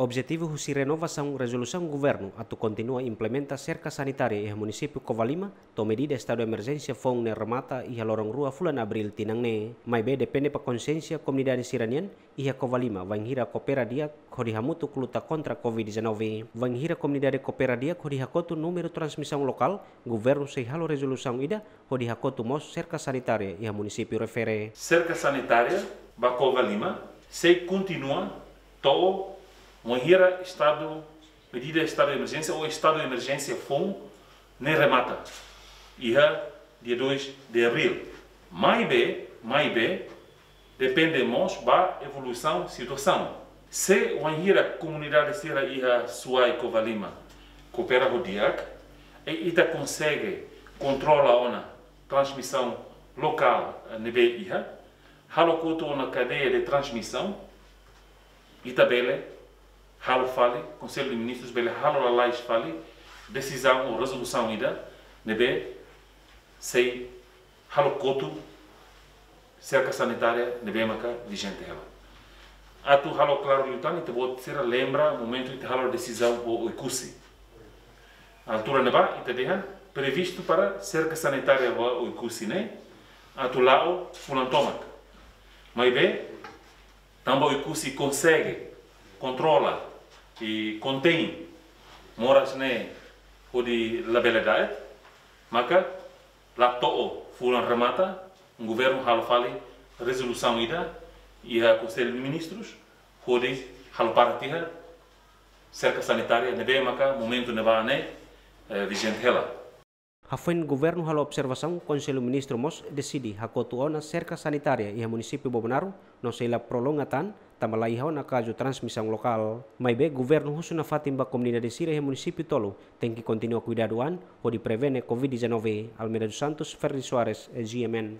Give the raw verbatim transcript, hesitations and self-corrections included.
Objetivu husi renovasaun rezolusaun governu atu kontinua implementa serka sanitária iha munisípiu Covalima, to'o medida estadu emerjénsia foun ne'e remata iha loron rua fulan Abríl tinan ne'e. Maibé depende ba konxiénsia komunidade sira-nian iha Covalima, bainhira koopera di'ak hodi hamutuk luta kontra Covid dezanove. Bainhira komunidade koopera di'ak hodi hakotu númeru transmisaun lokál, governu sei halo rezolusaun ida hodi hakotu mós serka sanitária iha munisípiu refere. Serka sanitária ba Covalima sei kontinua to'o bainhira estadu, medida estadu de emerjénsia ou estadu de emerjénsia foun ne'e remata iha dia dois de abril. Maibé, maibé, depende mós ba evolusaun situasaun. Se bainhira komunidade sira iha Suai Covalima koopera ho di'ak, i ita konsege kontrola ona transmisaun lokál, eh, ne'ebé iha, halo kotu ona kadeia de transmisaun, ita bele halo fali, Konsellu de Ministrus bele halo lalais fali desizaun ou rezolusaun ida ne'ebé sei halo kotu serka sanitária ne'ebé maka vijente hela. Atu halo klaru liután, ita-boot sira lembra momentu ita halo desizaun ho Oekusi. Altura ne'ebá ita dehan previstu para serka sanitária ba Oekusi ne'e atu la'o fulan tomak. Maibé tanba Oekusi konsege kontrola i kontein moras ne'e hodi labele da'et, maka la to'o fulan remata, governu halo fali rezolusaun ida iha Konsellu de Ministrus hodi halo para tiha serka sanitária ne'ebé maka momentu ne'ebá ne'e, eh, vijente hela. Hafoin governu halo observasaun, Konsellu Ministru mós deside hakotu ona serka sanitária iha munisípiu Bobonaro, no sei la prolonga tan, tanba la iha ona kazu transmisaun lokál. Maibé governu husu nafatin ba komunidade sira iha munisípiu tolu tenke kontinua kuidadu an hodi prevene Covid dezanove. Almeida dos Santos, Ferdi Soares, G M N.